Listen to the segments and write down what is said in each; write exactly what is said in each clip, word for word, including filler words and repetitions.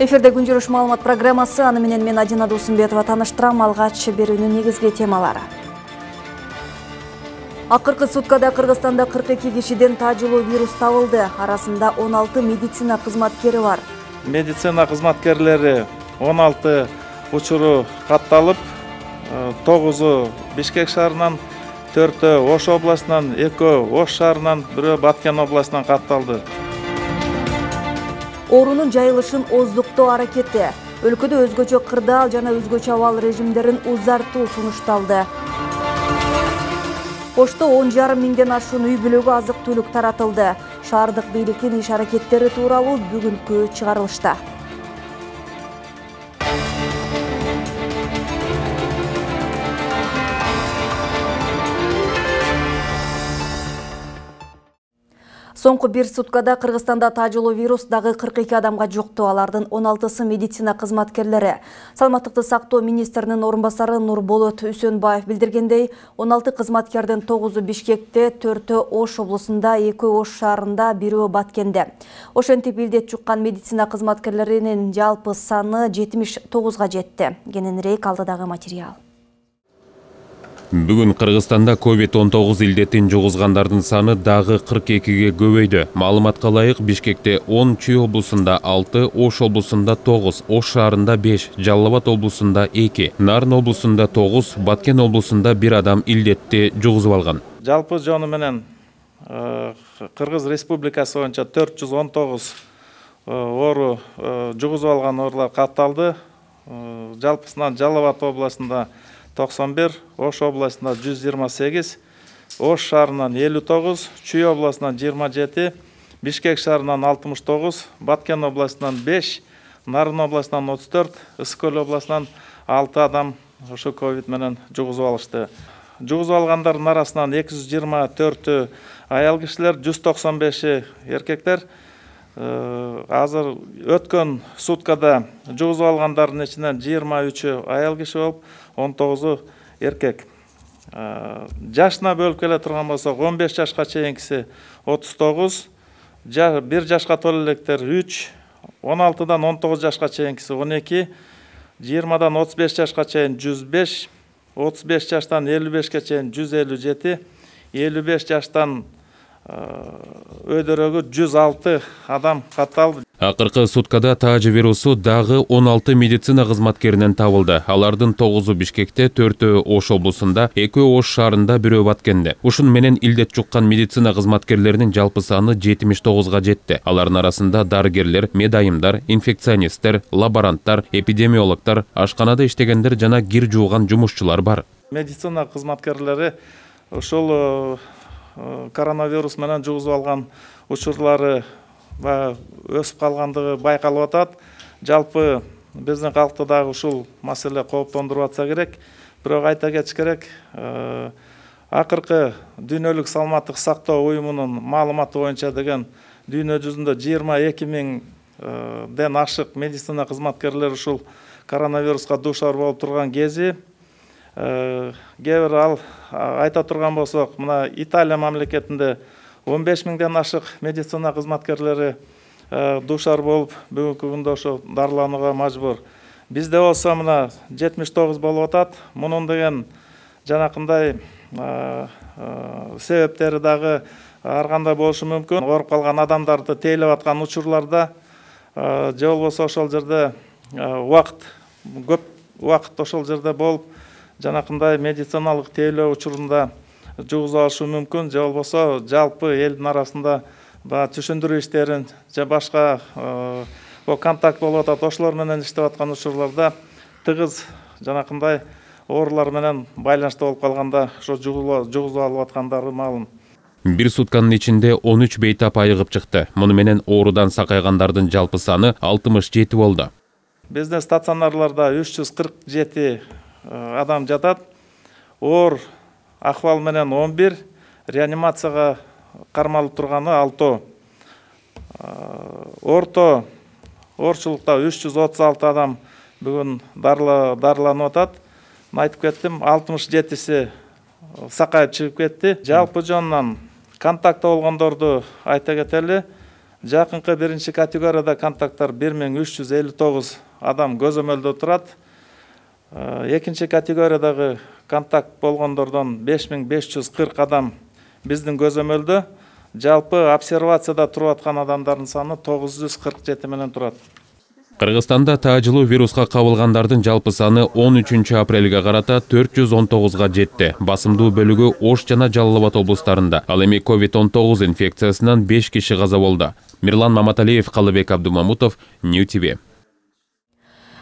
Эфирде күн жүрүш маалымат программасы, аны менен мен Адина Досумбетова тааныштырам. Алгач берүүнүн негизги темалары. Акыркы суткада Кыргызстанда кырк эки кишиден тажылуу вирус табылды. Арасында он алты медицина кызматкери бар. Медицина кызматкерлери он алты учуру катталып, тогузу Бишкек шаарынан, төртөө Ош областынан, экөө Ош шаарынан, бирөө Баткен областынан катталды. Оорунун жайылышын оздуктоо аракети. Өлкөдө өзгөчө кырдаал жана өзгөчө абал режимдерин узартуу сунушталды. Ошто он жарым миңден ашуун үй бүлөгү азык түлүк таратылды. Шаардык бийликтин иш аракеттери тууралуу бүгүнкү чыгарылышта. Соңку бир суткада Кыргызстанда тажылуу вирус дагы кырк эки адамга жукту. Алардын он алтысы медицина кызматкерлери. Саламаттыкты сактоо министринин орун басары Нурболот Үсөнбаев билдиргендей, он алты кызматкердин тогузу Бишкекте, төртөө Ош облусунда, экөө Ош шаарында, бирөө Баткенде. Ошентип илдет жуккан медицина кызматкерлеринин жалпы саны жетимиш тогузга жетти. Кененирээк алдыдагы материал. Бүгүн Кыргызстанда ковид он тогуз илдетин жугузгандардын саны дагы кырк экиге көбөйдү. Маалыматка ылайык, Бишкекте он, Чүй облусунда алты, Ош облусунда тогуз, Ош шаарында беш, Жалал Абад облусунда эки, Нарын облусунда тогуз, Баткен облусунда бир адам илдетти жугузуп алган. Жалпы жону менен Кыргыз Республикасы боюнча төрт жүз он тогуз оору жугузуп алган оорулар катталды. Жалпысынан Жалал Абад областында токсон бир, Ош областында жүз жыйырма сегиз, Ош шаарынан элүү тогуз, Чүй областынан жыйырма жети, Бишкек шаарынан алтымыш тогуз, Баткен областынан беш, Нарын областынан отуз төрт, Ысык Көл областынан алты адам ошо ковид менен жугузуп алышты. Жугузуп алгандардын арасынан эки жүз жыйырма төртү аял кишилер, жүз токсон беши эркектер. Азыр өткөн суткада жугузуп алгандардын ичинен жыйырма үчү аял киши болуп, он тогузу эркек. Жашына бөлүп келе турган болсок, он беш жашка чейинкиси отуз тогуз, бир жашка толо электер үч, он алтыдан он тогуз жашка чейинкиси он эки, жыйырмадан отуз беш жашка чейин жүз беш, отуз беш жаштан элүү бешке чейин жүз элүү жети, элүү беш жаштан өйдөрөгү жүз алты адам катталды. Акыркы суткада таажы вирусу дагы он алты медицина кызматкеринен табылды. Алардын тогузу Бишкекте, төртөө Ош облусунда, экөө Ош шаарында, бирөө Баткенде. Ушун менен илдет жуккан медицина кызматкерлеринин жалпы саны жетимиш тогузга жетти. Алардын арасында дарыгерлер, медайымдар, инфекционисттер, лаборанттар, эпидемиологдор, ашканада иштегендер жана кир жууган жумушчулар бар. Медицина кызматкерлери ошол коронавирус менен жугузуп алган учурлары өсүп калгандыгы байкалып атат. Жалпы биздин калкты дагы ушул маселе кооптондуруп атса керек. Бирок айта кетиш керек, акыркы дүйнөлүк саламаттык сактоо уюмунун маалыматы боюнча деген дүйнө жүзүндө жыйырма эки миңден ашык медицина кызматкерлери ушул коронавируска дуушар болуп турган кези. Кээ бир ал айта турган болсок, мына Италия мамлекетинде он беш миңден ашык медицина кызматкерлери дуушар болуп, бүгүнкү күндө ошо дарыланууга мажбур. Бизде болсо мына жетимиш тогуз болуп атат. Мунун деген жанакындай себептери дагы ар кандай болушу мүмкүн. Ооруп калган адамдарды тейлеп аткан учурларда же болбосо ошол жерде убакыт көп убакыт ошол жерде болуп, жанакындай медициналык тейлөө учурунда жугузуп алышы мүмкүн, же болбосо жалпы элдин арасында түшүндүрүү иштерин же башка контакт болуп атат, ошолор менен иштеп аткан учурларда тыгыз жанакындай оорулар менен байланышта болуп калганда ошо жугузуп алып аткандары маалым. Бир сутканын ичинде он үч бейтап айыгып чыкты. Муну менен оорудан сакайгандардын жалпы саны алтымыш жети болду. Биздин стационарларда үч жүз кырк жети адам жатат. Оор ахвал менен он бир, реанимацияга кармалып турганы алтоо. Орто оорчулукта үч жүз отуз алты адам бүгүн дарыланып атат. Айтып кеттим, алтымыш жетиси сакайып чыгып кетти. Жалпы жонунан контакт болгондорду айта кетели. Жакынкы биринчи категорияда контакттар бир миң үч жүз элүү тогуз адам көзөмөлдө турат. Экинчи категориядагы контакт болгондордон беш миң беш жүз кырк адам биздин көзөмөлдө. Жалпы обсервацияда туруп аткан адамдардын саны тогуз жүз кырк жети менен турат. Кыргызстанда таажылуу вируска кабылгандардын жалпы саны он үчүнчү апрелге карата төрт жүз он тогузга жетти. Басымдуу бөлүгү Ош жана Жалал Абад облустарында. Ал эми ковид он тогуз инфекциясынан беш киши каза болду. Мирлан Маматалиев, Калыбек Абдумамутов, Нью ти ви.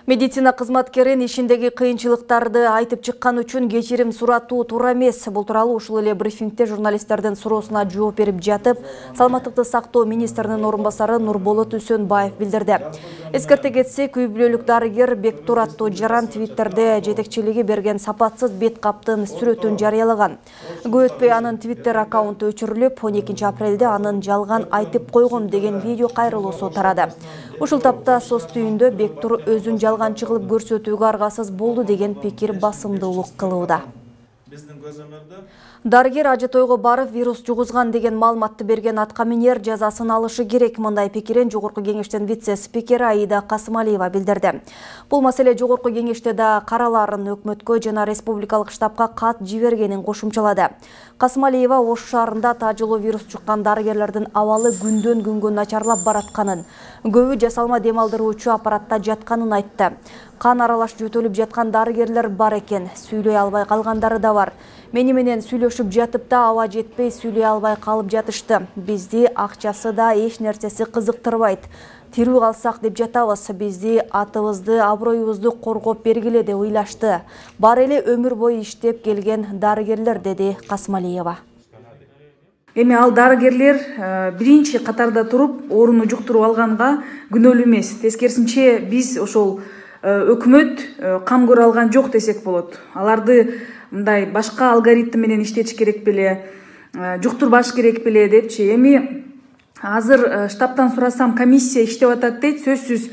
Медицина кызматкерин ишиндеги кыйынчылыктарды айтып чыккан үчүн кечирим суратуу туура эмес. Бул тууралуу ушул эле брифингде журналисттердин суроосуна жооп берип жатып, Саламаттыкты сактоо министринин орун басары Нурболот Үсөнбаев билдирди. Эскерте кетсек, үй бүлөлүк дарыгер Бектур аттуу жаран Твиттерде жетекчилиги берген сапатсыз бет каптын сүрөтүн жарыялаган. Көп өтпөй анын Твиттер аккаунту өчүрүлүп, он экинчи апрелде анын жалган айтып койгом деген видео кайрылуусу тарады. Ушул тапта соц түйүндө Бектур өзүн жалганчы кылып көрсөтүүгө аргасыз болду деген пикир басымдуулук кылууда. Дарыгер ажы тойго барып вирус жугузган деген маалыматты берген аткаминер жазасын алышы керек. Мындай пикирин Жогорку кеңештин вице-спикери Аида Касымалиева билдирди. Бул маселе Жогорку кеңеште да караларын өкмөткө жана республикалык штабка кат жибергенин кошумчалады. Касымалиева Ош шаарында таажылуу вирус жуккан дарыгерлердин абалы күндөн күнгө начарлап баратканын, көбү жасалма дем алдыруучу аппаратта жатканын айтты. Кан аралаш жөтөлүп жаткан дарыгерлер бар экен, сүйлөй албай калгандары да бар. Мени менен сүйлөшүп жатып да аба жетпей сүйлөй албай калып жатышты. Бизди акчасы да эч нерсеси кызыктырбайт. Тирүү калсак деп жатабыз, бизди атыбызды, аброюбузду коргоп бергиле деп ыйлашты. Бар эле өмүр бою иштеп келген дарыгерлер, деди Касымалиева. Эми ал дарыгерлер биринчи катарда туруп, ооруну жуктуруп алганга күнөөлүү эмес. Тескерисинче биз ошол өкмөт кам көрө алган жок десек болот. Аларды мындай башка алгоритм менен иштетиш керек беле, жуктурбаш керек беле депчи. Эми азыр штабтан сурасам, комиссия иштеп атат дейт, сөзсүз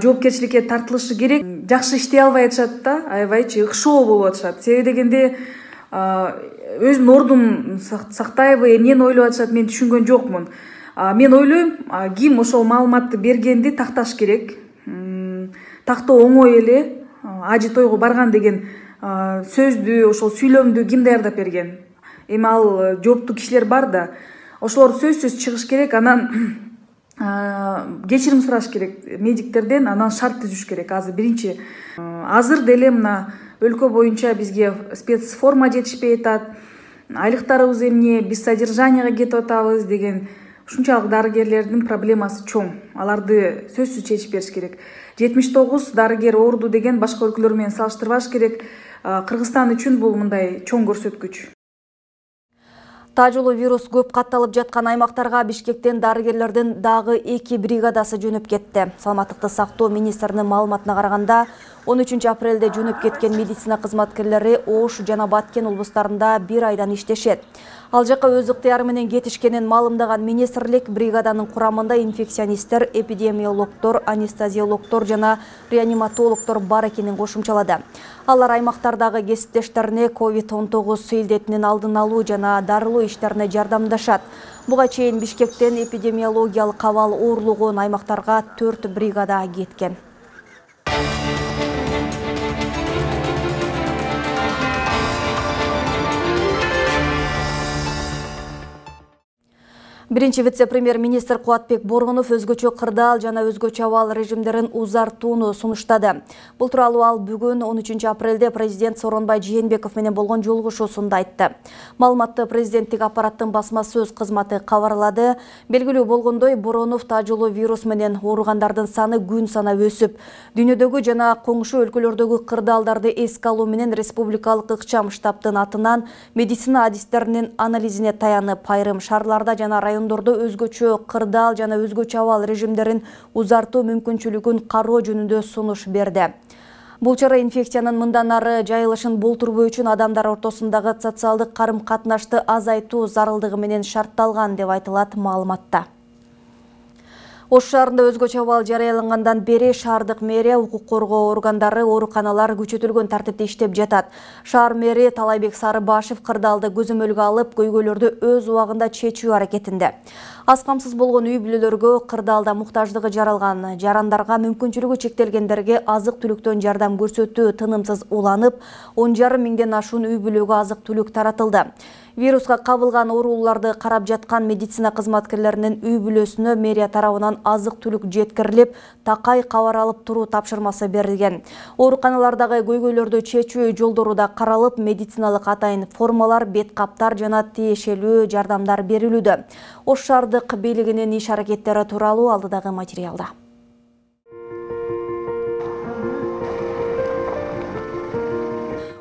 жоопкерчиликке тартылышы керек. Жакшы иштей албай атышат да, аябайчы ыкшоо болуп атышат. Себеби дегенде өзүмдүн ордун сактайбы, эмнени ойлоп атышат, мен түшүнгөн жокмун. Мен ойлойм, ким ошол маалыматты бергенди такташ керек. Тактоо оңой эле, ажы тойго барган деген сөздү, ошол сүйлөмдү ким даярдап берген? Эми ал жооптуу кишилер бар да, ошолор сөзсүз чыгыш керек, анан кечирим сураш керек медиктерден, анан шарт түзүш керек. Азыр биринчи, азыр деле мына өлкө боюнча бизге спецформа жетишпей атат, айлыктарыбыз эмне, биз содержанияга кетип атабыз деген ушунчалык дарыгерлердин проблемасы чоң. Аларды сөзсүз чечип бериш керек. жетимиш тогуз дарыгер ооруду деген башка өлкөлөр менен салыштырбаш керек. Кыргызстан үчүн бул мындай чоң көрсөткүч. Таажылуу вирус көп катталып жаткан аймактарга Бишкектен дарыгерлердин дагы эки бригадасы жөнөп кетти. Саламаттыкты сактоо министринин маалыматына караганда, он үчүнчү апрелде жөнөп кеткен медицина кызматкерлери Ош жана Баткен облустарында бир айдан иштешет. Ал жака өз ыктыяры менен кетишкенин маалымдаган министрлик бригаданын курамында инфекционисттер, эпидемиологдор, анестезиологдор жана реаниматологдор бар экенин кошумчалады. Алар аймактардагы кесиптештерине ковид он тогуз илдетинин алдын алуу жана дарылоо иштерине жардамдашат. Буга чейин Бишкектен эпидемиологиялык абал оорлогон аймактарга төрт бригада кеткен. Биринчи вице-премьер-министр Кубатбек Боргунов өзгөчө кырдаал жана өзгөчө абал режимдерин узартууну сунуштады. Бул тууралуу ал бүгүн он үчүнчү апрелде президент Сооронбай Жээнбеков менен болгон жолугушуусунда айтты. Маалыматты президенттик аппараттын басма сөз кызматы кабарлады. Белгилүү болгондой, Боронов таажылуу вирус менен ооругандардын саны күн санап өсүп, дүйнөдөгү жана коңшу өлкөлөрдөгү кырдаалдарды эске алуу менен республикалык ыкчам штабтын атынан медицина адистеринин анализине таянып, айрым шаарларда жана райондордо өзгөчө кырдаал жана өзгөчө абал режимдерин узартуу мүмкүнчүлүгүн кароо жөнүндө сунуш берди. Бул чара инфекциянын мындан ары жайылышын болтурбоо үчүн адамдар ортосундагы социалдык карым-катнашты азайтуу зарылдыгы менен шартталган деп айтылат маалыматта. Ош шаарында өзгөчө абал жарыялангандан бери шаардык мэрия, укук коргоо органдары, ооруканалар күчөтүлгөн тартипте иштеп жатат. Шаар мэри Талайбек Сарыбашев кырдаалды көзөмөлгө алып, көйгөйлөрдү өз убагында чечүү аракетинде. Аз камсыз болгон үй бүлөлөргө, кырдаалда муктаждыгы жаралган жарандарга, мүмкүнчүлүгү чектелгендерге азык түлүктөн жардам көрсөтүү тынымсыз уланып, он жарым миңден ашуун үй бүлөгө азык түлүк таратылды. Вируска кабылган ооруларды карап жаткан медицина кызматкерлеринин үй бүлөсүнө мэрия тарабынан азык түлүк жеткирилип, такай кабар алып туруу тапшырмасы берилген. Ооруканалардагы көйгөйлөрдү чечүү жолдору да каралып, медициналык атайын формалар, бет каптар жана тиешелүү жардамдар берилүүдө. Ош шаардык бийлигинин иш аракеттери тууралуу алдыдагы материалда.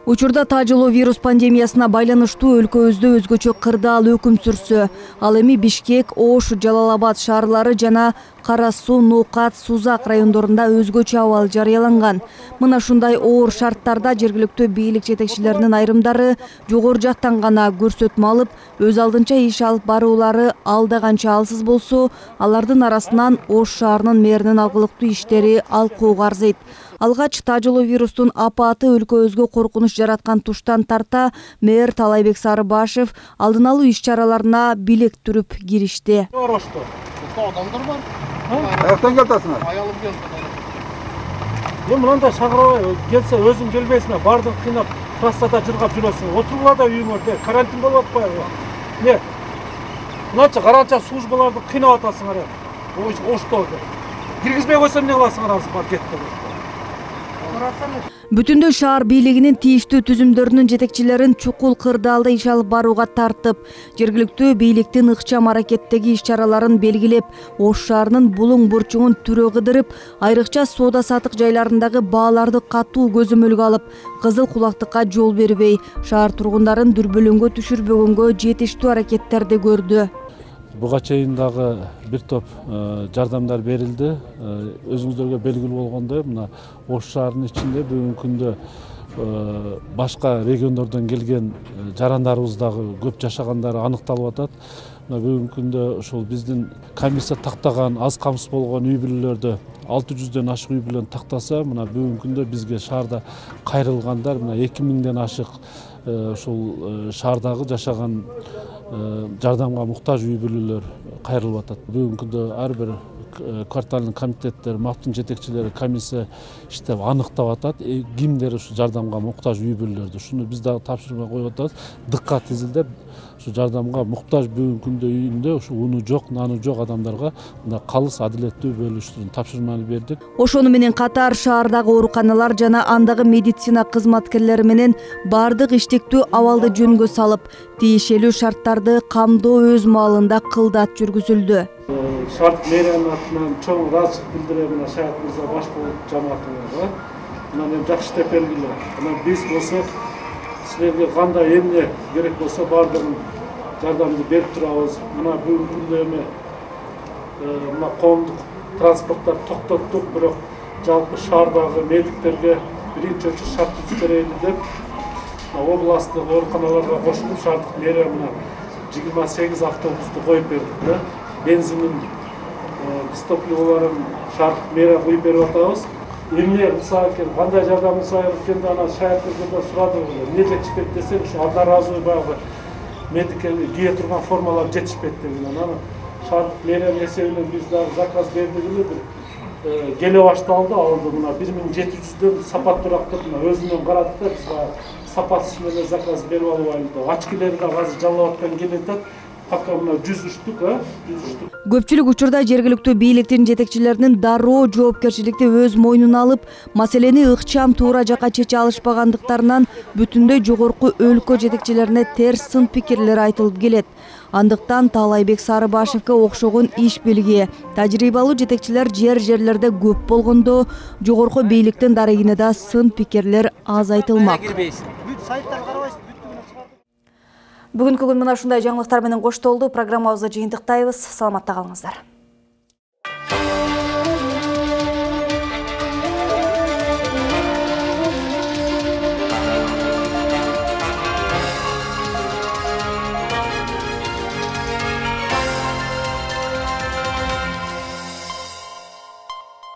Учурда тажылуу вирус пандемиясына байланыштуу өлкөбүздө өзгөчө кырдаал өкүм сүрсө, ал эми Бишкек, Ош, Жалал-Абад шаарлары жана Кара Суу, Нукат, Сузак райондорунда өзгөчө абал жарыяланган. Мына ушундай оор шарттарда жергиликтүү бийлик жетекчилеринин айрымдары жогору жактан гана көрсөтмө алып, өз алдынча иш алып баруулары алда канча алсыз болсо, алардын арасынан Ош шаарынын мэринин алгылыктуу иштери алкууга арзыйт. Алгач тажылуу вирустун апааты өлкөбүзгө коркунуч жараткан туштан тарта мэр Талайбек Сарыбашев алдын алуу иш-чараларына билек түрүп киришти. Адамдар бар. Аяктан келтасыңар. Аялым келди. Мен мынандай шакырабай келсе өзүң келбейсиңер, бардык кыйнап, трассада жыргап жүрөсүң. Отуруңар да үйүңөрдө, карантин болуп атпайбы? Не? Мынанча каранча службаларды кыйнап атасыңар. Ошто. Киргизбей койсом эмне кыласыңар азыр бар кетти. Бүтүндөй шаар бийлигинин тийиштүү түзүмдөрүнүн жетекчилерин чукул кырдаалда иш алып барууга тартып, жергиликтүү бийликтин ыкчам аракеттеги иш-чараларын белгилеп, Ош шаарынын булуң бурчуңун түрө кыдырып, айрыкча соода-саттык жайларындагы бааларды катуу көзөмөлгө алып, кызыл кулактыкка жол бербей, шаар тургундарын дүрбөлөңгө түшүрбөгөнгө жетиштүү аракеттерди көрдү. Буга чейин дагы бир топ жардамдар берилди. Өзүңүздөргө белгилүү болгондой, мына Ош шаарынын ичинде бүгүнкү күндө башка региондордон келген жарандарыбыз дагы көп жашагандары аныкталып атат. Мына бүгүнкү күндө ошол биздин комиссия тактаган аз камсыз болгон үй бүлөлөрдө алты жүздөн ашык үй бүлөнү тактаса, мына бүгүнкү күндө бизге шаарда кайрылгандар мына эки миңден ашык ошол шаардагы жашаган жардамга муктаж үй бүлөлөр кайрылып атат. Бүгүнкү күндө ар бир кварталдын комитеттер, мактын жетекчилери комиссия иштеп аныктап атат, кимдер ушу жардамга муктаж үй бүлөлөрдү. Ушуну биз дагы тапшырма коюп атабыз. Дыккат изилдеп, ушу жардамга муктаж бүгүнкү күндө үйүндө ушу уну жок, наны жок адамдарга мындай калыс адилеттүү бөлүштүрүүнү тапшырманы бердик. Ошону менен катар шаардагы ооруканалар жана андагы медицина кызматкерлери менен бардык иштиктүү абалды жөнгө салып, тиешелүү шарттарды камдоо өз маалында кылдат жүргүзүлдү. Шаардык мэриянын атынан чоң ыраазычылык билдирем мына Шаят мырза баш болуп жамаатыңарга. Мына мен жакшы деп белгиле. Мына биз болсок силерге кандай эмне керек болсо бардыгын жардамды берип турабыз. Мына бүгүнкү күндө эми мына коомдук транспорттор токтоттук, бирок жалпы шаардагы медиктерге биринчи очередь шарт түзүп деп областтык ооруканаларга кошулуп шаардык мэрия мына жыйырма сегиз автобусту коюп берди да. Бензинин биз топливолорун шаардык мэрия коюп берип атабыз. Эмне кылса экен, кандай жардам кылса экен да ана Шаяттерден сурадым. Эмне жетишпейт десек, ушу одноразовый баягы медикке кие турган формалар жетишпейт деген. Анан шаардык мэриянын эсебинен биз дагы заказ бердик эле бир келе башталды, алды мына бир миң жети жүздөн сапат турактып мына өзүнөн карадык да биз сапатсыз менен заказ берип алып алды. Очкилер да азыр Жалал-Абадтан келет. Пока мына жүз үч штук, а? жүз үч штук. Көпчүлүк учурда жергиликтүү бийликтин жетекчилеринин дароо жоопкерчиликти өз мойнуна алып, маселени ыкчам туура жакка чече алышпагандыктарынан бүтүндөй жогорку өлкө жетекчилерине терс сын пикирлер айтылып келет. Андыктан Талайбек Сарыбашевке окшогон иш билги, тажрыйбалуу жетекчилер жер-жерлерде көп болгондо, жогорку бийликтин дарегине да сын пикирлер аз айтылмак. Бүгүнкү күн мына ушундай жаңылыктар менен коштолду. Программабызды жыйынтыктайбыз. Саламатта калыңыздар.